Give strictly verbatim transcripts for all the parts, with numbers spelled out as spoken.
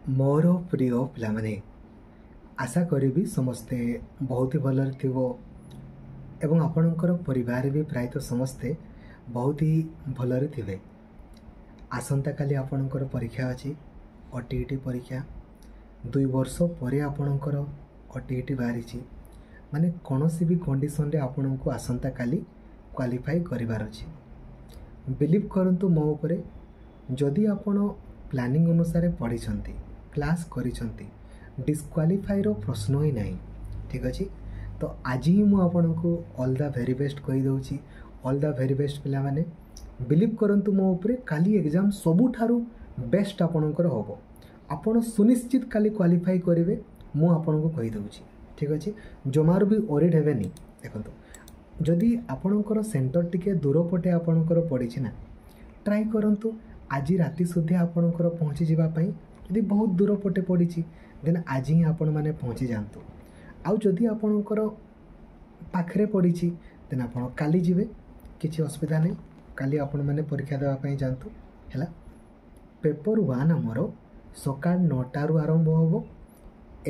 ମୋର ପ୍ରିୟ ପିଲାମାନେ ଆଶା କରିବି ସମସ୍ତେ ବହୁତ ହି ଭଲରେ ଥିବ ଏବଂ ଆପଣଙ୍କର ପରିବାର ବି ପ୍ରାୟତଃ ସମସ୍ତେ ବହୁତ ହି ଭଲରେ ଥିବେ ଆସନ୍ତାକାଲି ଆପଣଙ୍କର ପରୀକ୍ଷା ଅଛି ଓ ଟି ଇ ଟି ପରୀକ୍ଷା ଦୁଇ ବର୍ଷ ପରେ ଆପଣଙ୍କର ଓ ଟି ଇ ଟି ବାହାରିଛି ମାନେ କୌଣସି ବି କଣ୍ଡିସନରେ ଆପଣଙ୍କୁ ଆସନ୍ତାକାଲି କ୍ୱାଲିଫାଇ କରିବାର ଅଛି ବିଲିଭ୍ କରନ୍ତୁ ମୋ ଉପରେ ଯଦି ଆପଣ ପ୍ଲାନିଂ ଅନୁସାରେ ପଢ଼ିଛନ୍ତି କ୍ଲାସ୍ କରିଛନ୍ତି ଡିସ୍କ୍ୱାଲିଫାଇର ପ୍ରଶ୍ନ ହିଁ ନାହିଁ ଠିକ୍ ଅଛି ତ ଆଜି ହିଁ ମୁଁ ଆପଣଙ୍କୁ ଅଲ୍ the very best କହିଦେଉଛି ଅଲ୍ the very best ପିଲାମାନେ ବିଲିଭ୍ କରନ୍ତୁ ମୋ ଉପରେ କାଲି ଏକ୍ଜାମ୍ ସବୁଠାରୁ ବେଷ୍ଟ ଆପଣଙ୍କର ହେବ ଆପଣ ସୁନିଶ୍ଚିତ କାଲି କ୍ୱାଲିଫାଇ କରିବେ ମୁଁ ଆପଣଙ୍କୁ କହିଦେଉଛି ଠିକ୍ ଅଛି ଜମାରୁ ବି ୱରିଡ୍ ହେବେନି ଦେଖନ୍ତୁ ଯଦି ଆପଣଙ୍କର ସେଣ୍ଟର ଟିକେ ଦୂର ପଟେ ଆପଣଙ୍କର ପଡ଼ିଛି ନା ଟ୍ରାଏ କରନ୍ତୁ ଆଜି ରାତି ସୁଦ୍ଧା ଆପଣଙ୍କର ପହଞ୍ଚିଯିବା ପାଇଁ ଯଦି ବହୁତ ଦୂର ପଟେ ପଡ଼ିଛି ଦେନ୍ ଆଜି ହିଁ ଆପଣମାନେ ପହଞ୍ଚି ଯାଆନ୍ତୁ ଆଉ ଯଦି ଆପଣଙ୍କର ପାଖରେ ପଡ଼ିଛି ଦେନ୍ ଆପଣ କାଲି ଯିବେ କିଛି ଅସୁବିଧା ନାହିଁ କାଲି ଆପଣମାନେ ପରୀକ୍ଷା ଦେବା ପାଇଁ ଯାଆନ୍ତୁ ହେଲା ପେପର୍ ୱାନ୍ ଆମର ସକାଳ ନଅଟାରୁ ଆରମ୍ଭ ହେବ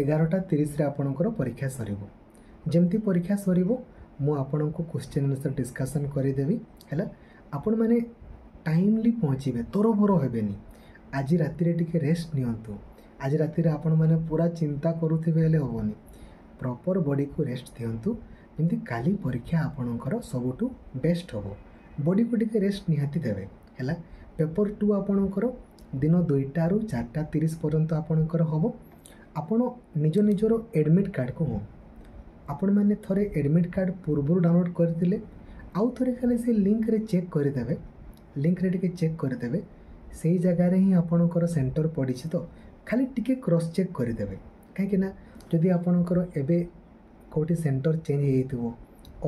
ଏଗାରଟା ତିରିଶରେ ଆପଣଙ୍କର ପରୀକ୍ଷା ସରିବ ଯେମିତି ପରୀକ୍ଷା ସରିବ ମୁଁ ଆପଣଙ୍କୁ କ୍ୱେଶ୍ଚିନ୍ ଆନ୍ସର୍ ଡିସ୍କସନ୍ କରିଦେବି ହେଲା ଆପଣମାନେ ଟାଇମଲି ପହଞ୍ଚିବେ ତରବର ହେବେନି ଆଜି ରାତିରେ ଟିକେ ରେଷ୍ଟ ନିଅନ୍ତୁ ଆଜି ରାତିରେ ଆପଣମାନେ ପୁରା ଚିନ୍ତା କରୁଥିବେ ହେଲେ ହେବନି ପ୍ରପର୍ ବଡ଼ିକୁ ରେଷ୍ଟ ଦିଅନ୍ତୁ ଯେମିତି କାଲି ପରୀକ୍ଷା ଆପଣଙ୍କର ସବୁଠୁ ବେଷ୍ଟ ହେବ ବଡ଼ିକୁ ଟିକେ ରେଷ୍ଟ ନିହାତି ଦେବେ ହେଲା ପେପର୍ ଟୁ ଆପଣଙ୍କର ଦିନ ଦୁଇଟାରୁ ଚାରିଟା ତିରିଶ ପର୍ଯ୍ୟନ୍ତ ଆପଣଙ୍କର ହେବ ଆପଣ ନିଜ ନିଜର ଆଡ଼ମିଟ୍ କାର୍ଡ଼କୁ ହଁ ଆପଣମାନେ ଥରେ ଆଡ଼ମିଟ୍ କାର୍ଡ଼ ପୂର୍ବରୁ ଡାଉନଲୋଡ଼୍ କରିଥିଲେ ଆଉ ଥରେ ଖାଲି ସେ ଲିଙ୍କରେ ଚେକ୍ କରିଦେବେ ଲିଙ୍କରେ ଟିକେ ଚେକ୍ କରିଦେବେ ସେଇ ଜାଗାରେ ହିଁ ଆପଣଙ୍କର ସେଣ୍ଟର ପଡ଼ିଛି ତ ଖାଲି ଟିକେ କ୍ରସ୍ ଚେକ୍ କରିଦେବେ କାହିଁକି ନା ଯଦି ଆପଣଙ୍କର ଏବେ କେଉଁଠି ସେଣ୍ଟର ଚେଞ୍ଜ ହେଇଯାଇଥିବ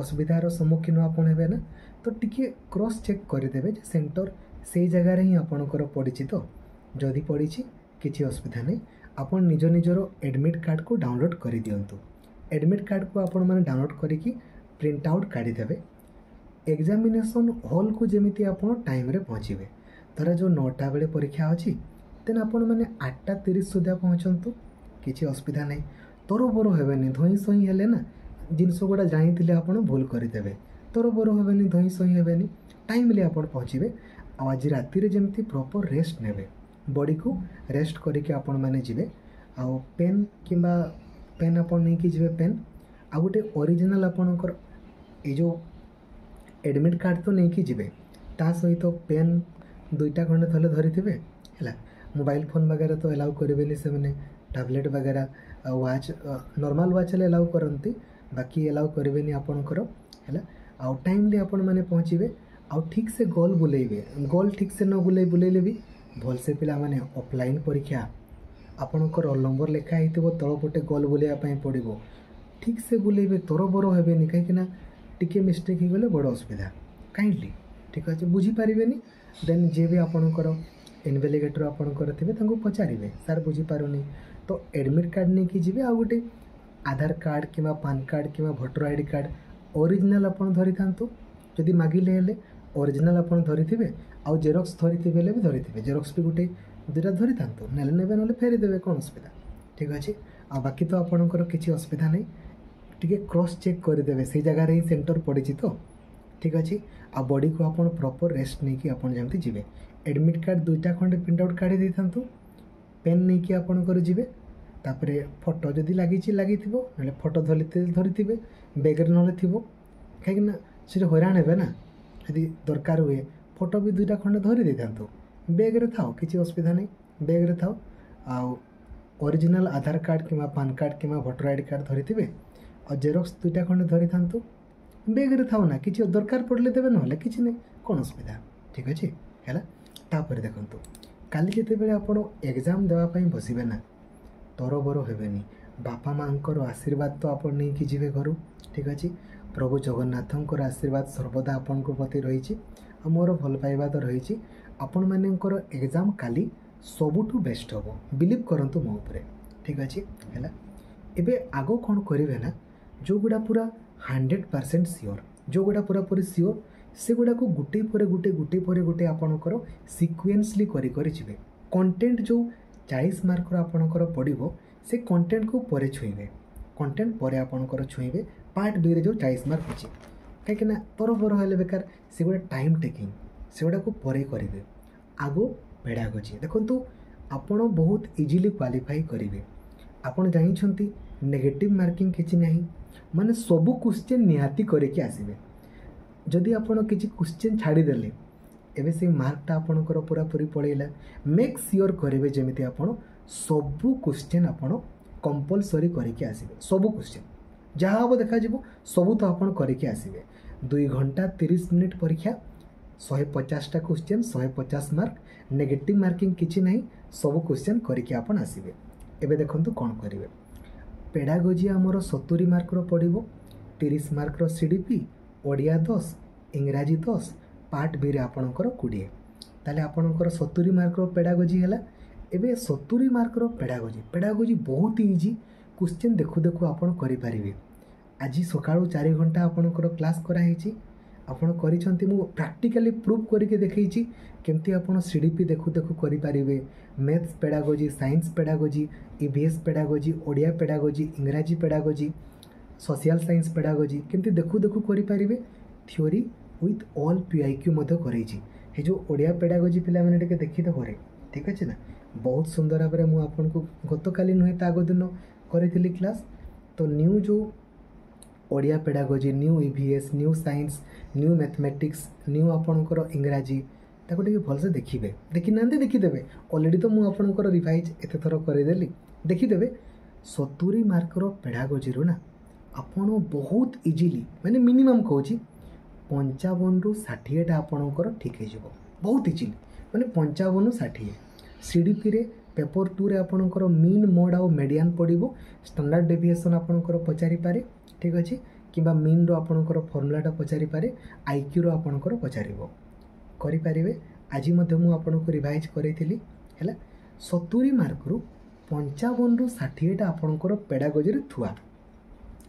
ଅସୁବିଧାର ସମ୍ମୁଖୀନ ଆପଣ ହେବେ ନା ତ ଟିକେ କ୍ରସ୍ ଚେକ୍ କରିଦେବେ ଯେ ସେଣ୍ଟର ସେଇ ଜାଗାରେ ହିଁ ଆପଣଙ୍କର ପଡ଼ିଛି ତ ଯଦି ପଡ଼ିଛି କିଛି ଅସୁବିଧା ନାହିଁ ଆପଣ ନିଜ ନିଜର ଆଡ଼ମିଟ୍ କାର୍ଡ଼କୁ ଡାଉନଲୋଡ଼୍ କରିଦିଅନ୍ତୁ ଆଡ଼ମିଟ୍ କାର୍ଡ଼କୁ ଆପଣମାନେ ଡାଉନଲୋଡ଼୍ କରିକି ପ୍ରିଣ୍ଟ ଆଉଟ୍ କାଢ଼ିଦେବେ ଏକ୍ଜାମିନେସନ୍ ହଲ୍କୁ ଯେମିତି ଆପଣ ଟାଇମ୍ରେ ପହଞ୍ଚିବେ ଧର ଯେଉଁ ନଅଟା ବେଳେ ପରୀକ୍ଷା ଅଛି ଦେନ୍ ଆପଣମାନେ ଆଠଟା ତିରିଶ ସୁଦ୍ଧା ପହଞ୍ଚନ୍ତୁ କିଛି ଅସୁବିଧା ନାହିଁ ତରବର ହେବେନି ଧଇଁ ସଇଁ ହେଲେ ନା ଜିନିଷ ଗୁଡ଼ା ଜାଣିଥିଲେ ଆପଣ ଭୁଲ କରିଦେବେ ତରବର ହେବେନି ଧଇଁ ସଇଁ ହେବେନି ଟାଇମଲି ଆପଣ ପହଞ୍ଚିବେ ଆଉ ଆଜି ରାତିରେ ଯେମିତି ପ୍ରପର୍ ରେଷ୍ଟ ନେବେ ବଡ଼ିକୁ ରେଷ୍ଟ କରିକି ଆପଣମାନେ ଯିବେ ଆଉ ପେନ୍ କିମ୍ବା ପେନ୍ ଆପଣ ନେଇକି ଯିବେ ପେନ୍ ଆଉ ଗୋଟେ ଅରିଜିନାଲ୍ ଆପଣଙ୍କର ଏଇ ଯେଉଁ ଆଡ଼ମିଟ୍ କାର୍ଡ଼ ତ ନେଇକି ଯିବେ ତା ସହିତ ପେନ୍ ଦୁଇଟା ଖଣ୍ଡେ ଥଲେ ଧରିଥିବେ ହେଲା ମୋବାଇଲ୍ ଫୋନ୍ ବଗେରା ତ ଏଲାଉ କରିବେନି ସେମାନେ ଟ୍ୟାବଲେଟ୍ ବଗେରା ଆଉ ୱାଚ୍ ନର୍ମାଲ୍ ୱାଚ୍ ହେଲେ ଏଲାଉ କରନ୍ତି ବାକି ଏଲାଉ କରିବେନି ଆପଣଙ୍କର ହେଲା ଆଉ ଟାଇମଲି ଆପଣମାନେ ପହଞ୍ଚିବେ ଆଉ ଠିକ୍ ସେ ଗୋଲ ବୁଲେଇବେ ଗୋଲ ଠିକ୍ ସେ ନ ବୁଲେଇ ବୁଲେଇଲେ ବି ଭଲସେ ପିଲାମାନେ ଅଫଲାଇନ୍ ପରୀକ୍ଷା ଆପଣଙ୍କ ରୋଲ୍ ନମ୍ବର ଲେଖା ହେଇଥିବ ତଳ ପଟେ ଗୋଲ ବୁଲେଇବା ପାଇଁ ପଡ଼ିବ ଠିକ୍ ସେ ବୁଲେଇବେ ତରବର ହେବେନି କାହିଁକି ନା ଟିକେ ମିଷ୍ଟେକ୍ ହେଇଗଲେ ବଡ଼ ଅସୁବିଧା କାଇଣ୍ଡଲି ଠିକ୍ ଅଛି ବୁଝିପାରିବେନି ଦେନ୍ ଯିଏ ବି ଆପଣଙ୍କର ଇନଭିଜିଲେଟର ଆପଣଙ୍କର ଥିବେ ତାଙ୍କୁ ପଚାରିବେ ସାର୍ ବୁଝିପାରୁନି ତ ଆଡ଼ମିଟ୍ କାର୍ଡ଼ ନେଇକି ଯିବେ ଆଉ ଗୋଟେ ଆଧାର କାର୍ଡ଼ କିମ୍ବା ପାନ୍ କାର୍ଡ଼ କିମ୍ବା voter I D card original ଆପଣ ଧରିଥାନ୍ତୁ ଯଦି ମାଗିଲେ ହେଲେ ଅରିଜିନାଲ୍ ଆପଣ ଧରିଥିବେ ଆଉ ଜେରକ୍ସ ଧରିଥିବେ ହେଲେ ବି ଧରିଥିବେ ଜେରକ୍ସ ବି ଗୋଟେ ଦୁଇଟା ଧରିଥାନ୍ତୁ ନେଲେ ନେବେ ନହେଲେ ଫେରିଦେବେ କ'ଣ ଅସୁବିଧା ଠିକ୍ ଅଛି ଆଉ ବାକି ତ ଆପଣଙ୍କର କିଛି ଅସୁବିଧା ନାହିଁ ଟିକେ କ୍ରସ୍ ଚେକ୍ କରିଦେବେ ସେଇ ଜାଗାରେ ହିଁ ସେଣ୍ଟର ପଡ଼ିଛି ତ ଠିକ୍ ଅଛି ଆଉ ବଡ଼ିକୁ ଆପଣ ପ୍ରପର୍ ରେଷ୍ଟ ନେଇକି ଆପଣ ଯେମିତି ଯିବେ ଆଡ଼ମିଟ୍ କାର୍ଡ଼ ଦୁଇଟା ଖଣ୍ଡେ ପ୍ରିଣ୍ଟ ଆଉଟ୍ କାଢ଼ି ଦେଇଥାନ୍ତୁ ପେନ୍ ନେଇକି ଆପଣଙ୍କର ଯିବେ ତାପରେ ଫଟୋ ଯଦି ଲାଗିଛି ଲାଗିଥିବ ନହେଲେ ଫଟୋ ଧରି ଧରିଥିବେ ବ୍ୟାଗ୍ରେ ନହେଲେ ଥିବ କାହିଁକି ନା ସେଠି ହଇରାଣ ହେବେ ନା ଯଦି ଦରକାର ହୁଏ ଫଟୋ ବି ଦୁଇଟା ଖଣ୍ଡେ ଧରି ଦେଇଥାନ୍ତୁ ବ୍ୟାଗ୍ରେ ଥାଉ କିଛି ଅସୁବିଧା ନାହିଁ ବ୍ୟାଗ୍ରେ ଥାଉ ଆଉ ଅରିଜିନାଲ୍ ଆଧାର କାର୍ଡ଼ କିମ୍ବା ପାନ୍ କାର୍ଡ଼ କିମ୍ବା ଭୋଟର I D card ଧରିଥିବେ ଆଉ ଜେରକ୍ସ ଦୁଇଟା ଖଣ୍ଡେ ଧରିଥାନ୍ତୁ ବ୍ୟାଗ୍ରେ ଥାଉ ନା କିଛି ଦରକାର ପଡ଼ିଲେ ଦେବେ ନହେଲେ କିଛି ନାହିଁ କ'ଣ ଅସୁବିଧା ଠିକ୍ ଅଛି ହେଲା ତାପରେ ଦେଖନ୍ତୁ କାଲି ଯେତେବେଳେ ଆପଣ ଏକ୍ଜାମ୍ ଦେବା ପାଇଁ ବସିବେ ନା ତରବର ହେବେନି ବାପା ମାଆଙ୍କର ଆଶୀର୍ବାଦ ତ ଆପଣ ନେଇକି ଯିବେ ଘରୁ ଠିକ୍ ଅଛି ପ୍ରଭୁ ଜଗନ୍ନାଥଙ୍କର ଆଶୀର୍ବାଦ ସର୍ବଦା ଆପଣଙ୍କ ପ୍ରତି ରହିଛି ଆଉ ମୋର ଭଲ ପାଇବା ତ ରହିଛି ଆପଣମାନଙ୍କର ଏକ୍ଜାମ୍ କାଲି ସବୁଠୁ ବେଷ୍ଟ ହେବ ବିଲିଭ୍ କରନ୍ତୁ ମୋ ଉପରେ ଠିକ୍ ଅଛି ହେଲା ଏବେ ଆଗ କ'ଣ କରିବେ ନା ଯେଉଁଗୁଡ଼ା ପୁରା ହଣ୍ଡ୍ରେଡ଼ ପରସେଣ୍ଟ ସିଓର ଯେଉଁଗୁଡ଼ା ପୁରାପୁରି ସିଓର ସେଗୁଡ଼ାକୁ ଗୋଟେ ପରେ ଗୋଟେ ଗୋଟେ ପରେ ଗୋଟେ ଆପଣଙ୍କର ସିକ୍ୱେନ୍ସଲି କରି କରି ଯିବେ କଣ୍ଟେଣ୍ଟ ଯେଉଁ ଚାଳିଶ ମାର୍କର ଆପଣଙ୍କର ପଡ଼ିବ ସେ କଣ୍ଟେଣ୍ଟକୁ ପରେ ଛୁଇଁବେ କଣ୍ଟେଣ୍ଟ ପରେ ଆପଣଙ୍କର ଛୁଇଁବେ ପାର୍ଟ ବିରେ ଯେଉଁ ଚାଳିଶ ମାର୍କ ଅଛି କାହିଁକିନା ତରବର ହେଲେ ବେକାର ସେଗୁଡ଼ା ଟାଇମ୍ ଟେକିଂ ସେଗୁଡ଼ାକୁ ପରେ କରିବେ ଆଗ ପେଡ଼ାଗୋଜି ଦେଖନ୍ତୁ ଆପଣ ବହୁତ ଇଜିଲି କ୍ୱାଲିଫାଇ କରିବେ ଆପଣ ଜାଣିଛନ୍ତି ନେଗେଟିଭ୍ ମାର୍କିଂ କିଛି ନାହିଁ ମାନେ ସବୁ କ୍ୱେଶ୍ଚେନ୍ ନିହାତି କରିକି ଆସିବେ ଯଦି ଆପଣ କିଛି କ୍ୱେଶ୍ଚେନ୍ ଛାଡ଼ିଦେଲେ ଏବେ ସେଇ ମାର୍କଟା ଆପଣଙ୍କର ପୁରାପୁରି ପଳେଇଲା ମେକ୍ ସିଓର କରିବେ ଯେମିତି ଆପଣ ସବୁ କ୍ୱେଶ୍ଚେନ୍ ଆପଣ କମ୍ପଲସରି କରିକି ଆସିବେ ସବୁ କ୍ୱେଶ୍ଚେନ୍ ଯାହା ହେବ ଦେଖାଯିବ ସବୁ ତ ଆପଣ କରିକି ଆସିବେ ଦୁଇ ଘଣ୍ଟା ତିରିଶ ମିନିଟ୍ ପରୀକ୍ଷା ଶହେ ପଚାଶଟା କ୍ୱେଶ୍ଚେନ୍ ଶହେ ପଚାଶ ମାର୍କ ନେଗେଟିଭ୍ ମାର୍କିଂ କିଛି ନାହିଁ ସବୁ କ୍ୱେଶ୍ଚେନ୍ କରିକି ଆପଣ ଆସିବେ ଏବେ ଦେଖନ୍ତୁ କ'ଣ କରିବେ ପେଡ଼ାଗୋଜି ଆମର ସତୁରି ମାର୍କର ପଡ଼ିବ ତିରିଶ ମାର୍କର ସି ଡି ପି ଓଡ଼ିଆ ଦଶ ଇଂରାଜୀ ଦଶ ପାର୍ଟ ବିରେ ଆପଣଙ୍କର କୋଡ଼ିଏ ତାହେଲେ ଆପଣଙ୍କର ସତୁରି ମାର୍କର ପେଡ଼ାଗୋଜି ହେଲା ଏବେ ସତୁରି ମାର୍କର ପେଡ଼ାଗୋଜି ପେଡ଼ାଗୋଜି ବହୁତ ଇଜି କ୍ୱେଶ୍ଚେନ୍ ଦେଖୁ ଦେଖୁ ଆପଣ କରିପାରିବେ ଆଜି ସକାଳୁ ଚାରି ଘଣ୍ଟା ଆପଣଙ୍କର କ୍ଲାସ୍ କରାହେଇଛି ଆପଣ କରିଛନ୍ତି ମୁଁ ପ୍ରାକ୍ଟିକାଲି ପ୍ରୁଫ୍ କରିକି ଦେଖେଇଛି କେମିତି ଆପଣ ସି ଡି ପି ଦେଖୁ ଦେଖୁ କରିପାରିବେ maths pedagogy science pedagogy E V S pedagogy Odia pedagogy ଇଂରାଜୀ ପେଡ଼ାଗୋଜି ସୋସିଆଲ୍ ସାଇନ୍ସ ପେଡ଼ାଗୋଜି କେମିତି ଦେଖୁ ଦେଖୁ କରିପାରିବେ theory with all P Y Q ମଧ୍ୟ କରେଇଛି ଏ ଯେଉଁ ଓଡ଼ିଆ ପେଡ଼ାଗୋଜି ପିଲାମାନେ ଟିକେ ଦେଖିଦେବରେ ଠିକ୍ ଅଛି ନା ବହୁତ ସୁନ୍ଦର ଭାବରେ ମୁଁ ଆପଣଙ୍କୁ ଗତକାଲି ନୁହେଁ ତା ଆଗ ଦିନ କରିଥିଲି କ୍ଲାସ୍ ତ ନ୍ୟୁ ଯେଉଁ Odia pedagogy new E V S new science new mathematics new ଆପଣଙ୍କର ଇଂରାଜୀ ତାକୁ ଟିକେ ଭଲସେ ଦେଖିବେ ଦେଖିନାହାନ୍ତି ଦେଖିଦେବେ ଅଲରେଡ଼ି ତ ମୁଁ ଆପଣଙ୍କର ରିଭାଇଜ୍ ଏତେ ଥର କରିଦେଲି ଦେଖିଦେବେ ସତୁରି ମାର୍କର ପେଡ଼ାଗୋଜିରୁ ନା ଆପଣ ବହୁତ ଇଜିଲି ମାନେ ମିନିମମ୍ କହୁଛି ପଞ୍ଚାବନରୁ ଷାଠିଏଟା ଆପଣଙ୍କର ଠିକ୍ ହେଇଯିବ ବହୁତ ଇଜିଲି ମାନେ ପଞ୍ଚାବନରୁ ଷାଠିଏ ସି ଡି ପିରେ ପେପର୍ ଟୁରେ ଆପଣଙ୍କର ମିନ୍ ମୋଡ଼ ଆଉ ମେଡ଼ିଆନ୍ ପଡ଼ିବ ଷ୍ଟାଣ୍ଡାର୍ଡ଼ ଡେଭିଏସନ୍ ଆପଣଙ୍କର ପଚାରିପାରେ ଠିକ୍ ଅଛି କିମ୍ବା ମିନ୍ର ଆପଣଙ୍କର ଫର୍ମୁଲାଟା ପଚାରିପାରେ ଆଇକ୍ୟୁର ଆପଣଙ୍କର ପଚାରିବ କରିପାରିବେ ଆଜି ମଧ୍ୟ ମୁଁ ଆପଣଙ୍କୁ ରିଭାଇଜ୍ କରେଇଥିଲି ହେଲା ସତୁରି ମାର୍କରୁ ପଞ୍ଚାବନରୁ ଷାଠିଏଟା ଆପଣଙ୍କର ପେଡ଼ାଗୋଜିରେ ଥୁଆ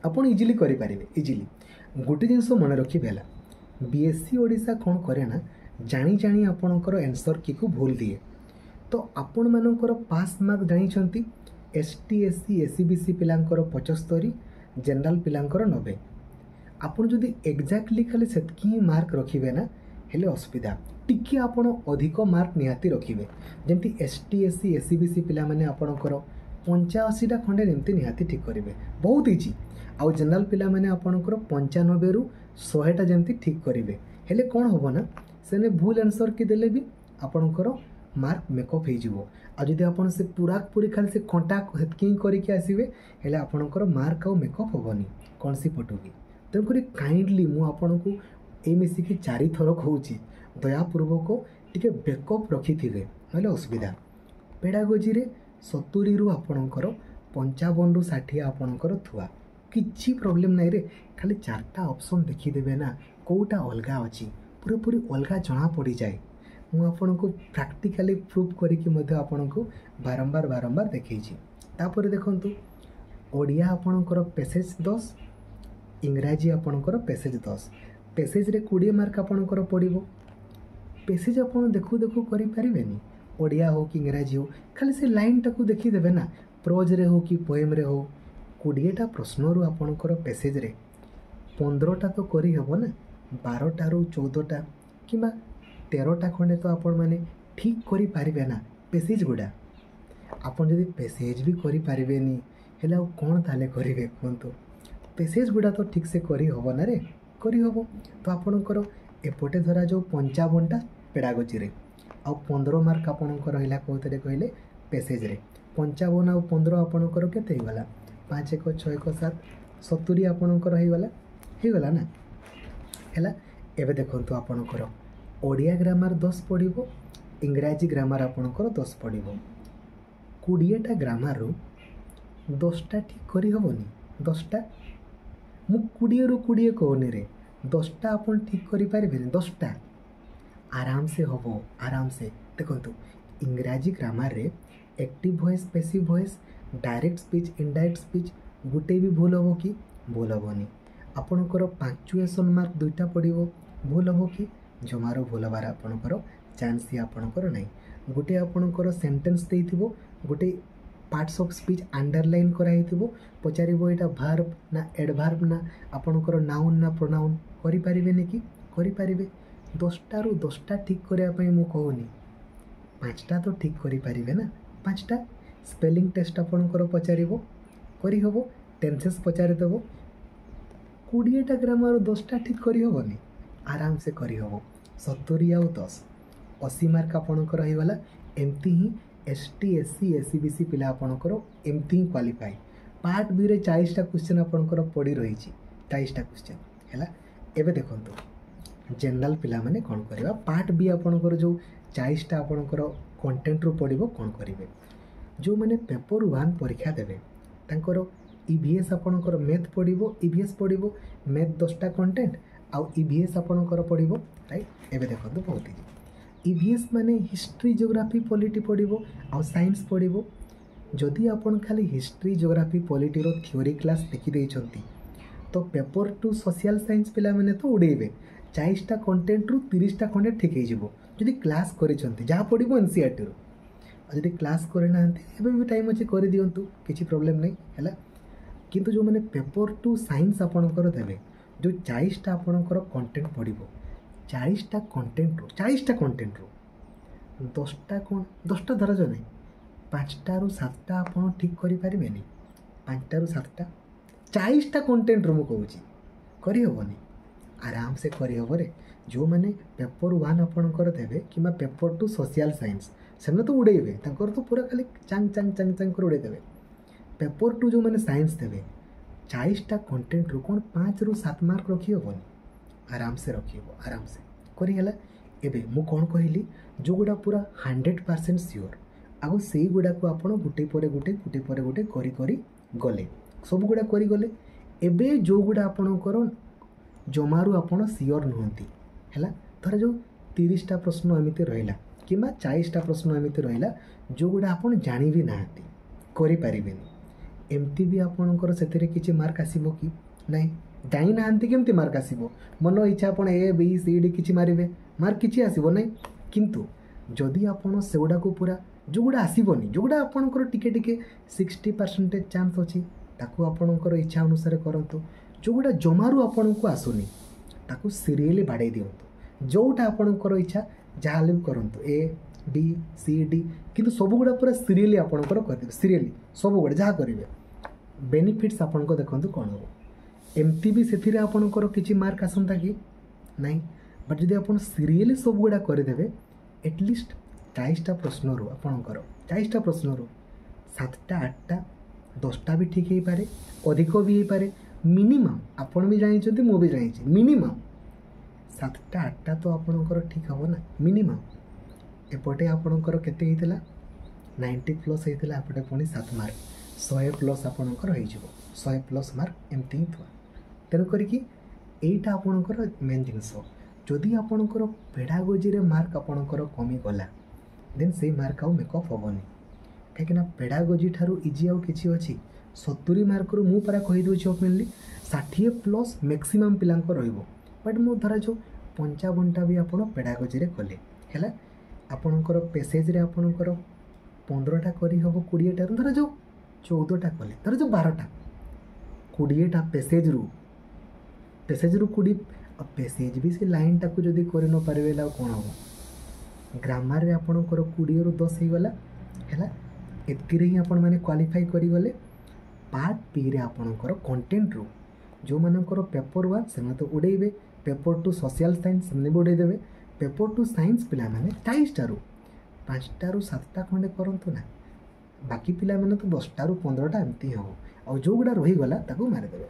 ଆପଣ ଇଜିଲି କରିପାରିବେ ଇଜିଲି ଗୋଟେ ଜିନିଷ ମନେ ରଖିବେ ହେଲା ବି ଏସ୍ ଇ ଓଡ଼ିଶା କ'ଣ କରେ ନା ଜାଣି ଜାଣି ଆପଣଙ୍କର ଆନ୍ସର୍ କିକୁ ଭୁଲ ଦିଏ ତ ଆପଣମାନଙ୍କର ପାସ୍ ମାର୍କ ଜାଣିଛନ୍ତି S T S C S E B C ପିଲାଙ୍କର ପଞ୍ଚସ୍ତରୀ ଜେନେରାଲ୍ ପିଲାଙ୍କର ନବେ ଆପଣ ଯଦି ଏକ୍ଜାକ୍ଟଲି ଖାଲି ସେତିକି ହିଁ ମାର୍କ ରଖିବେ ନା ହେଲେ ଅସୁବିଧା ଟିକିଏ ଆପଣ ଅଧିକ ମାର୍କ ନିହାତି ରଖିବେ ଯେମିତି S T S C S E B C ପିଲାମାନେ ଆପଣଙ୍କର ପଞ୍ଚାଅଶୀଟା ଖଣ୍ଡେ ଯେମିତି ନିହାତି ଠିକ୍ କରିବେ ବହୁତ ଇଜି ଆଉ ଜେନେରାଲ୍ ପିଲାମାନେ ଆପଣଙ୍କର ପଞ୍ଚାନବେରୁ ଶହେଟା ଯେମିତି ଠିକ୍ କରିବେ ହେଲେ କ'ଣ ହେବ ନା ସେମାନେ ଭୁଲ ଆନ୍ସର୍ କି ଦେଲେ ବି ଆପଣଙ୍କର ମାର୍କ ମେକଅପ୍ ହେଇଯିବ ଆଉ ଯଦି ଆପଣ ସେ ପୁରା ପୁରି ଖାଲି ସେ କଣ୍ଟା ସେତିକି ହିଁ କରିକି ଆସିବେ ହେଲେ ଆପଣଙ୍କର ମାର୍କ ଆଉ ମେକଅପ୍ ହେବନି କୌଣସି ପଟୁ ବି ତେଣୁକରି କାଇଣ୍ଡଲି ମୁଁ ଆପଣଙ୍କୁ ଏଇ ମିଶିକି ଚାରିଥର କହୁଛି ଦୟାପୂର୍ବକ ଟିକେ ବ୍ୟାକଅପ୍ ରଖିଥିବେ ନହେଲେ ଅସୁବିଧା ପେଡ଼ାଗୋଜିରେ ସତୁରିରୁ ଆପଣଙ୍କର ପଞ୍ଚାବନରୁ ଷାଠିଏ ଆପଣଙ୍କର ଥୁଆ କିଛି ପ୍ରୋବ୍ଲେମ୍ ନାହିଁରେ ଖାଲି ଚାରିଟା ଅପସନ୍ ଦେଖିଦେବେ ନା କେଉଁଟା ଅଲଗା ଅଛି ପୁରାପୁରି ଅଲଗା ଜଣା ପଡ଼ିଯାଏ ମୁଁ ଆପଣଙ୍କୁ ପ୍ରାକ୍ଟିକାଲି ପ୍ରୁଫ୍ କରିକି ମଧ୍ୟ ଆପଣଙ୍କୁ ବାରମ୍ବାର ବାରମ୍ବାର ଦେଖେଇଛି ତାପରେ ଦେଖନ୍ତୁ ଓଡ଼ିଆ ଆପଣଙ୍କର ପେସେଜ୍ ଦଶ ଇଂରାଜୀ ଆପଣଙ୍କର ପେସେଜ୍ ଦଶ ପେସେଜ୍ରେ କୋଡ଼ିଏ ମାର୍କ ଆପଣଙ୍କର ପଡ଼ିବ ପେସେଜ୍ ଆପଣ ଦେଖୁ ଦେଖୁ କରିପାରିବେନି ଓଡ଼ିଆ ହେଉ କି ଇଂରାଜୀ ହେଉ ଖାଲି ସେ ଲାଇନ୍ଟାକୁ ଦେଖିଦେବେ ନା ପ୍ରୋଜ୍ରେ ହେଉ କି ପୋଏମ୍ରେ ହେଉ କୋଡ଼ିଏଟା ପ୍ରଶ୍ନରୁ ଆପଣଙ୍କର ପେସେଜ୍ରେ ପନ୍ଦରଟା ତ କରିହେବ ନା ବାରଟାରୁ ଚଉଦଟା କିମ୍ବା ତେରଟା ଖଣ୍ଡେ ତ ଆପଣମାନେ ଠିକ୍ କରିପାରିବେ ନା ପେସେଜ୍ ଗୁଡ଼ା ଆପଣ ଯଦି ପେସେଜ୍ ବି କରିପାରିବେନି ହେଲେ ଆଉ କ'ଣ ତାହେଲେ କରିବେ କୁହନ୍ତୁ ପେସେଜ୍ ଗୁଡ଼ା ତ ଠିକ୍ସେ କରିହେବ ନା ରେ କରିହେବ ତ ଆପଣଙ୍କର ଏପଟେ ଧରାଯାଉ ପଞ୍ଚାବନଟା ପେଡ଼ାଗୋଜିରେ ଆଉ ପନ୍ଦର ମାର୍କ ଆପଣଙ୍କର ରହିଲା କେଉଁଥିରେ କହିଲେ ପେସେଜ୍ରେ ପଞ୍ଚାବନ ଆଉ ପନ୍ଦର ଆପଣଙ୍କର କେତେ ହେଇଗଲା ପାଞ୍ଚ ଏକ ଛଅ ଏକ ସାତ ସତୁରି ଆପଣଙ୍କର ହେଇଗଲା ହେଇଗଲା ନା ହେଲା ଏବେ ଦେଖନ୍ତୁ ଆପଣଙ୍କର ଓଡ଼ିଆ ଗ୍ରାମାର ଦଶ ପଡ଼ିବ ଇଂରାଜୀ ଗ୍ରାମାର ଆପଣଙ୍କର ଦଶ ପଡ଼ିବ କୋଡ଼ିଏଟା ଗ୍ରାମାରରୁ ଦଶଟା ଠିକ୍ କରିହେବନି ଦଶଟା ମୁଁ କୋଡ଼ିଏରୁ କୋଡ଼ିଏ କହୁନିରେ ଦଶଟା ଆପଣ ଠିକ୍ କରିପାରିବେନି ଦଶଟା ଆରାମସେ ହେବ ଆରାମସେ ଦେଖନ୍ତୁ ଇଂରାଜୀ ଗ୍ରାମାରରେ active voice passive voice direct speech indirect speech ଗୋଟେ ବି ଭୁଲ ହେବ କି ଭୁଲ ହେବନି ଆପଣଙ୍କର ପାଙ୍କଚୁଏସନ୍ ମାର୍କ ଦୁଇଟା ପଡ଼ିବ ଭୁଲ ହେବ କି ଜମାରୁ ଭୁଲ ହେବାର ଆପଣଙ୍କର ଚାନ୍ସ ହିଁ ଆପଣଙ୍କର ନାହିଁ ଗୋଟେ ଆପଣଙ୍କର ସେଣ୍ଟେନ୍ସ ଦେଇଥିବ, ଗୋଟେ ପାର୍ଟସ୍ ଅଫ୍ ସ୍ପିଚ୍ ଆଣ୍ଡରଲାଇନ୍ କରାହେଇଥିବ, ପଚାରିବ ଏଇଟା ଭାର୍ବ ନା ଏଡ଼ଭାର୍ବ ନା ଆପଣଙ୍କର ନାଉନ୍ ନା ପ୍ରୋନାଉନ୍। କରିପାରିବେନି କି? କରିପାରିବେ। ଦଶଟାରୁ ଦଶଟା ଠିକ୍ କରିବା ପାଇଁ ମୁଁ କହୁନି, ପାଞ୍ଚଟା ତ ଠିକ୍ କରିପାରିବେ ନା? ପାଞ୍ଚଟା। ସ୍ପେଲିଂ ଟେଷ୍ଟ ଆପଣଙ୍କର ପଚାରିବ, କରିହେବ। ଟେନ୍ସେସ୍ ପଚାରିଦେବ। କୋଡ଼ିଏଟା ଗ୍ରାମାର ଦଶଟା ଠିକ୍ କରିହେବନି? ଆରାମସେ କରିହେବ। ସତୁରି ଆଉ ଦଶ, ଅଶୀ ମାର୍କ ଆପଣଙ୍କର ହେଇଗଲା। ଏମିତି ହିଁ S T, S C, S E B C ପିଲା ଆପଣଙ୍କର ଏମିତି ହିଁ କ୍ୱାଲିଫାଏ। ପାର୍ଟ ବିରେ ଚାଳିଶଟା କ୍ୱେଶ୍ଚନ୍ ଆପଣଙ୍କର ପଡ଼ି ରହିଛି, ଚାଳିଶଟା କ୍ୱେଶ୍ଚନ୍ ହେଲା। ଏବେ ଦେଖନ୍ତୁ, ଜେନେରାଲ ପିଲାମାନେ କ'ଣ କରିବା? ପାର୍ଟ ବି ଆପଣଙ୍କର ଯେଉଁ ଚାଳିଶଟା ଆପଣଙ୍କର କଣ୍ଟେଣ୍ଟରୁ ପଡ଼ିବ, କ'ଣ କରିବେ? ଯେଉଁମାନେ ପେପର୍ ୱାନ୍ ପରୀକ୍ଷା ଦେବେ, ତାଙ୍କର ଇ ଭି ଏସ୍ ଆପଣଙ୍କର ମ୍ୟାଥ୍ ପଡ଼ିବ, ଇ ଭି ଏସ୍ ପଡ଼ିବ। ମ୍ୟାଥ୍ ଦଶଟା କଣ୍ଟେଣ୍ଟ ଆଉ ଇ ଭି ଏସ୍ ଆପଣଙ୍କର ପଡ଼ିବ, ରାଇଟ୍? ଏବେ ଦେଖନ୍ତୁ, ବହୁତ ଇଜି। ଇ ଭି ଏସ୍ ମାନେ ହିଷ୍ଟ୍ରି, ଜିଓଗ୍ରାଫି, ପଲିଟି ପଡ଼ିବ ଆଉ ସାଇନ୍ସ ପଡ଼ିବ। ଯଦି ଆପଣ ଖାଲି ହିଷ୍ଟ୍ରି, ଜିଓଗ୍ରାଫି, ପଲିଟିର ଥିଓରି କ୍ଲାସ୍ ଦେଖିଦେଇଛନ୍ତି, ତ ପେପର୍ ଟୁ ସୋସିଆଲ୍ ସାଇନ୍ସ ପିଲାମାନେ ତ ଉଡ଼େଇବେ। ଚାଳିଶଟା କଣ୍ଟେଣ୍ଟରୁ ତିରିଶଟା ଖଣ୍ଡେ ଠିକ୍ ହେଇଯିବ ଯଦି କ୍ଲାସ୍ କରିଛନ୍ତି, ଯାହା ପଡ଼ିବ ଏନ୍ ସି ଆର୍ ଟିରୁ। ଆଉ ଯଦି କ୍ଲାସ୍ କରିନାହାନ୍ତି, ଏବେ ବି ଟାଇମ୍ ଅଛି, କରିଦିଅନ୍ତୁ, କିଛି ପ୍ରୋବ୍ଲେମ୍ ନାହିଁ, ହେଲା। କିନ୍ତୁ ଯେଉଁମାନେ ପେପର୍ ଟୁ ସାଇନ୍ସ ଆପଣଙ୍କର ଦେବେ, ଯେଉଁ ଚାଳିଶଟା ଆପଣଙ୍କର କଣ୍ଟେଣ୍ଟ ପଡ଼ିବ, ଚାଳିଶଟା କଣ୍ଟେଣ୍ଟରୁ ଚାଳିଶଟା କଣ୍ଟେଣ୍ଟରୁ ଦଶଟା କ'ଣ, ଦଶଟା ଧରାଯାଉ ନାହିଁ, ପାଞ୍ଚଟାରୁ ସାତଟା ଆପଣ ଠିକ୍ କରିପାରିବେନି? ପାଞ୍ଚଟାରୁ ସାତଟା ଚାଳିଶଟା କଣ୍ଟେଣ୍ଟରୁ ମୁଁ କହୁଛି, କରିହେବନି? ଆରାମସେ କରିହେବରେ। ଯେଉଁମାନେ ପେପର୍ ୱାନ୍ ଆପଣଙ୍କର ଦେବେ କିମ୍ବା ପେପର୍ ଟୁ ସୋସିଆଲ୍ ସାଇନ୍ସ, ସେମାନେ ତ ଉଡ଼େଇବେ। ତାଙ୍କର ତ ପୁରା ଖାଲି ଚାଙ୍ଗ ଚାଙ୍ଗ ଚାଙ୍ଗ ଚାଙ୍ଗ କରି ଉଡ଼େଇଦେବେ। ପେପର୍ ଟୁ ଯେଉଁମାନେ ସାଇନ୍ସ ଦେବେ, ଚାଳିଶଟା କଣ୍ଟେଣ୍ଟରୁ କ'ଣ ପାଞ୍ଚରୁ ସାତ ମାର୍କ ରଖିହେବନି? ଆରାମସେ ରଖିହେବ, ଆରାମସେ କରିହେଲା। ଏବେ ମୁଁ କ'ଣ କହିଲି? ଯେଉଁଗୁଡ଼ା ପୁରା ହଣ୍ଡ୍ରେଡ଼ ପରସେଣ୍ଟ ସିଓର, ଆଉ ସେଇଗୁଡ଼ାକୁ ଆପଣ ଗୋଟେ ପରେ ଗୋଟେ, ଗୋଟେ ପରେ ଗୋଟେ କରି କରି ଗଲେ, ସବୁଗୁଡ଼ା କରିଗଲେ। ଏବେ ଯେଉଁଗୁଡ଼ା ଆପଣଙ୍କର ଜମାରୁ ଆପଣ ସିଓର ନୁହନ୍ତି, ହେଲା, ଧର ଯେଉଁ ତିରିଶଟା ପ୍ରଶ୍ନ ଏମିତି ରହିଲା କିମ୍ବା ଚାଳିଶଟା ପ୍ରଶ୍ନ ଏମିତି ରହିଲା, ଯେଉଁଗୁଡ଼ା ଆପଣ ଜାଣି ବି ନାହାନ୍ତି, କରିପାରିବେନି, ଏମିତି ବି ଆପଣଙ୍କର ସେଥିରେ କିଛି ମାର୍କ ଆସିବ କି? ନାହିଁ। ଜାଣିନାହାନ୍ତି, କେମିତି ମାର୍କ ଆସିବ? ମନ ଇଚ୍ଛା ଆପଣ ଏ ବି ସି ଡି କିଛି ମାରିବେ, ମାର୍କ କିଛି ଆସିବ ନାହିଁ। କିନ୍ତୁ ଯଦି ଆପଣ ସେଗୁଡ଼ାକୁ ପୁରା, ଯେଉଁଗୁଡ଼ା ଆସିବନି, ଯେଉଁଗୁଡ଼ା ଆପଣଙ୍କର ଟିକେ ଟିକେ ସିକ୍ସଟି ପରସେଣ୍ଟେଜ୍ ଚାନ୍ସ ଅଛି, ତାକୁ ଆପଣଙ୍କର ଇଚ୍ଛା ଅନୁସାରେ କରନ୍ତୁ। ଯେଉଁଗୁଡ଼ା ଜମାରୁ ଆପଣଙ୍କୁ ଆସୁନି, ତାକୁ ସିରିଏଲି ବାଡ଼େଇ ଦିଅନ୍ତୁ। ଯେଉଁଟା ଆପଣଙ୍କର ଇଚ୍ଛା, ଯାହା ହେଲେ ବି କରନ୍ତୁ, ଏ ବି ସି ଡି, କିନ୍ତୁ ସବୁଗୁଡ଼ା ପୁରା ସିରିଏଲି ଆପଣଙ୍କର କରିଦେବେ। ସିରିଏଲି ସବୁଗୁଡ଼ା ଯାହା କରିବେ, ବେନିଫିଟ୍ସ ଆପଣଙ୍କ ଦେଖନ୍ତୁ କ'ଣ ହେବ। ଏମିତି ବି ସେଥିରେ ଆପଣଙ୍କର କିଛି ମାର୍କ ଆସନ୍ତା କି ନାହିଁ, ବଟ୍ ଯଦି ଆପଣ ସିରିଏଲି ସବୁଗୁଡ଼ା କରିଦେବେ, ଏଟଲିଷ୍ଟ ଚାଳିଶଟା ପ୍ରଶ୍ନରୁ ଆପଣଙ୍କର ଚାଳିଶଟା ପ୍ରଶ୍ନରୁ ସାତଟା, ଆଠଟା, ଦଶଟା ବି ଠିକ୍ ହେଇପାରେ, ଅଧିକ ବି ହେଇପାରେ। ମିନିମମ୍ ଆପଣ ବି ଜାଣିଛନ୍ତି, ମୁଁ ବି ଜାଣିଛି, ମିନିମମ୍ ସାତଟା ଆଠଟା ତ ଆପଣଙ୍କର ଠିକ୍ ହେବ ନା ମିନିମମ୍? ଏପଟେ ଆପଣଙ୍କର କେତେ ହେଇଥିଲା? ନାଇଣ୍ଟି ପ୍ଲସ୍ ହେଇଥିଲା। ଏପଟେ ପୁଣି ସାତ ମାର୍କ, ଶହେ ପ୍ଲସ୍ ଆପଣଙ୍କର ହେଇଯିବ। ଶହେ ପ୍ଲସ୍ ମାର୍କ ଏମିତି ହିଁ ଥୁଆ। ତେଣୁ କରିକି ଏଇଟା ଆପଣଙ୍କର ମେନ୍ ଜିନିଷ। ଯଦି ଆପଣଙ୍କର ପେଡ଼ାଗୋଜିରେ ମାର୍କ ଆପଣଙ୍କର କମିଗଲା, ଦେନ୍ ସେଇ ମାର୍କ ଆଉ ମେକଅପ୍ ହେବନି। କାହିଁକିନା ପେଡ଼ାଗୋଜି ଠାରୁ ଇଜି ଆଉ କିଛି ଅଛି? ସତୁରି ମାର୍କରୁ ମୁଁ ପରା କହିଦେଉଛି ଓପେନଲି, ଷାଠିଏ ପ୍ଲସ୍ ମ୍ୟାକ୍ସିମମ୍ ପିଲାଙ୍କ ରହିବ। ବଟ୍ ମୁଁ ଧରାଯାଉ ପଞ୍ଚାବନଟା ବି ଆପଣ ପେଡ଼ାଗୋଜିରେ କଲେ, ହେଲା, ଆପଣଙ୍କର ପେସେଜରେ ଆପଣଙ୍କର ପନ୍ଦରଟା କରିହେବ କୋଡ଼ିଏଟାରୁ, ଧରାଯାଉ ଚଉଦଟା କଲେ, ଧରାଯାଉ ବାରଟା, କୋଡ଼ିଏଟା ପେସେଜରୁ ପେସେଜରୁ କୋଡ଼ିଏ, ଆଉ ପେସେଜ ବି ସେ ଲାଇନ୍ଟାକୁ ଯଦି କରି ନ ପାରିବେ ହେଲେ ଆଉ କ'ଣ ହେବ? ଗ୍ରାମାରରେ ଆପଣଙ୍କର କୋଡ଼ିଏରୁ ଦଶ ହେଇଗଲା, ହେଲା। ଏତିକିରେ ହିଁ ଆପଣମାନେ କ୍ୱାଲିଫାଇ କରିଗଲେ। ପାର୍ଟ ବିରେ ଆପଣଙ୍କର କଣ୍ଟେଣ୍ଟରୁ ଯେଉଁମାନଙ୍କର ପେପର୍ ୱାନ୍, ସେମାନେ ତ ଉଡ଼େଇବେ। ପେପର୍ ଟୁ ସୋସିଆଲ୍ ସାଇନ୍ସ, ସେମାନେ ବି ଉଡ଼େଇଦେବେ। ପେପର୍ ଟୁ ସାଇନ୍ସ ପିଲାମାନେ ଚାଳିଶଟାରୁ ପାଞ୍ଚଟାରୁ ସାତଟା ଖଣ୍ଡେ କରନ୍ତୁ ନା। ବାକି ପିଲାମାନେ ତ ଦଶଟାରୁ ପନ୍ଦରଟା ଏମିତି ହିଁ ହେବ, ଆଉ ଯେଉଁଗୁଡ଼ା ରହିଗଲା ତାକୁ ମାରିଦେବେ।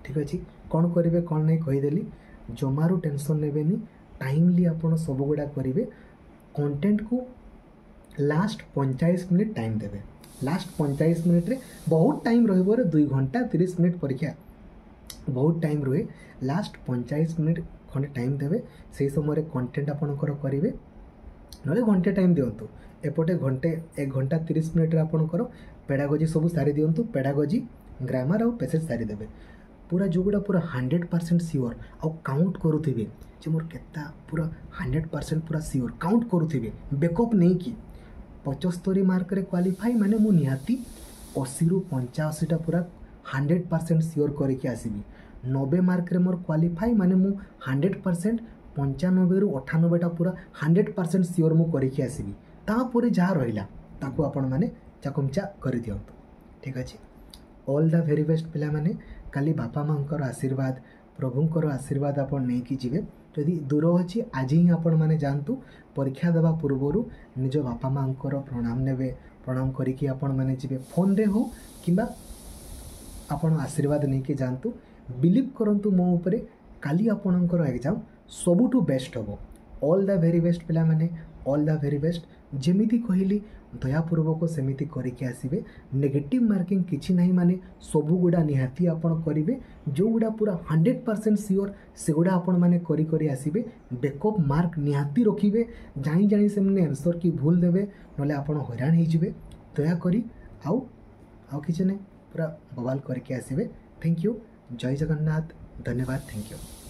ଠିକ୍ ଅଛି, କ'ଣ କରିବେ କ'ଣ ନାହିଁ କହିଦେଲି। ଜମାରୁ ଟେନସନ୍ ନେବେନି। ଟାଇମଲି ଆପଣ ସବୁଗୁଡ଼ା କରିବେ। କଣ୍ଟେଣ୍ଟକୁ ଲାଷ୍ଟ ପଇଁଚାଳିଶ ମିନିଟ୍ ଟାଇମ୍ ଦେବେ। ଲାଷ୍ଟ ପଇଁଚାଳିଶ ମିନିଟ୍ରେ ବହୁତ ଟାଇମ୍ ରହିବ, ଦୁଇ ଘଣ୍ଟା ତିରିଶ ମିନିଟ୍ ପରୀକ୍ଷା, ବହୁତ ଟାଇମ୍ ରୁହେ। ଲାଷ୍ଟ ପଇଁଚାଳିଶ ମିନିଟ୍ ଖଣ୍ଡେ ଟାଇମ୍ ଦେବେ, ସେଇ ସମୟରେ କଣ୍ଟେଣ୍ଟ ଆପଣଙ୍କର କରିବେ। ନହେଲେ ଘଣ୍ଟେ ଟାଇମ୍ ଦିଅନ୍ତୁ। ଏପଟେ ଘଣ୍ଟେ, ଏକ ଘଣ୍ଟା ତିରିଶ ମିନିଟ୍ରେ ଆପଣଙ୍କର ପେଡ଼ାଗୋଜି ସବୁ ସାରି ଦିଅନ୍ତୁ। ପେଡ଼ାଗୋଜି, ଗ୍ରାମାର ଆଉ ପେସେଜ୍ ସାରିଦେବେ। ପୁରା ଯେଉଁଗୁଡ଼ା ପୁରା ହଣ୍ଡ୍ରେଡ଼ ପରସେଣ୍ଟ ସିଓର ଆଉ କାଉଣ୍ଟ କରୁଥିବେ ଯେ ମୋର କେତେ ପୁରା ହଣ୍ଡ୍ରେଡ଼ ପରସେଣ୍ଟ ପୁରା ସିଓର କାଉଣ୍ଟ କରୁଥିବେ ବେକଅପ୍ ନେଇକି ପଚସ୍ତରୀ ମାର୍କରେ କ୍ୱାଲିଫାଇ ମାନେ ମୁଁ ନିହାତି ଅଶୀରୁ ପଞ୍ଚାଅଶୀଟା ପୁରା ହଣ୍ଡ୍ରେଡ଼ ପରସେଣ୍ଟ ସିଓର କରିକି ଆସିବି ନବେ ମାର୍କରେ ମୋର କ୍ୱାଲିଫାଇ ମାନେ ମୁଁ ହଣ୍ଡ୍ରେଡ଼ ପରସେଣ୍ଟ ପଞ୍ଚାନବେରୁ ଅଠାନବେଟା ପୁରା ହଣ୍ଡ୍ରେଡ଼ ପରସେଣ୍ଟ ସିଓର ମୁଁ କରିକି ଆସିବି ତାପରେ ଯାହା ରହିଲା ତାକୁ ଆପଣମାନେ ଚାକୁମଚା କରିଦିଅନ୍ତୁ ଠିକ୍ ଅଛି ଅଲ୍ the very best ପିଲାମାନେ କାଲି ବାପା ମାଆଙ୍କର ଆଶୀର୍ବାଦ ପ୍ରଭୁଙ୍କର ଆଶୀର୍ବାଦ ଆପଣ ନେଇକି ଯିବେ ଯଦି ଦୂର ଅଛି ଆଜି ହିଁ ଆପଣମାନେ ଯାଆନ୍ତୁ ପରୀକ୍ଷା ଦେବା ପୂର୍ବରୁ ନିଜ ବାପା ମାଆଙ୍କର ପ୍ରଣାମ ନେବେ ପ୍ରଣାମ କରିକି ଆପଣମାନେ ଯିବେ ଫୋନ୍ରେ ହଉ କିମ୍ବା ଆପଣ ଆଶୀର୍ବାଦ ନେଇକି ଯାଆନ୍ତୁ ବିଲିଭ୍ କରନ୍ତୁ ମୋ ଉପରେ କାଲି ଆପଣଙ୍କର ଏକ୍ଜାମ୍ ସବୁଠୁ ବେଷ୍ଟ ହେବ ଅଲ୍ the very best ପିଲାମାନେ ଅଲ୍ the very best ଯେମିତି କହିଲି ଦୟାପୂର୍ବକ ସେମିତି କରିକି ଆସିବେ ନେଗେଟିଭ୍ ମାର୍କିଂ କିଛି ନାହିଁ ମାନେ ସବୁଗୁଡ଼ା ନିହାତି ଆପଣ କରିବେ ଯେଉଁଗୁଡ଼ା ପୁରା ହଣ୍ଡ୍ରେଡ଼ ପରସେଣ୍ଟ ସିଓର ସେଗୁଡ଼ା ଆପଣମାନେ କରି କରି ଆସିବେ ବେକଅପ୍ ମାର୍କ ନିହାତି ରଖିବେ ଜାଣି ଜାଣି ସେମାନେ ଆନ୍ସର୍ କି ଭୁଲ ଦେବେ ନହେଲେ ଆପଣ ହଇରାଣ ହେଇଯିବେ ଦୟାକରି ଆଉ ଆଉ କିଛି ନାହିଁ ପୁରା ବବାଲ କରିକି ଆସିବେ thank you Jay Jagannath ଧନ୍ୟବାଦ thank you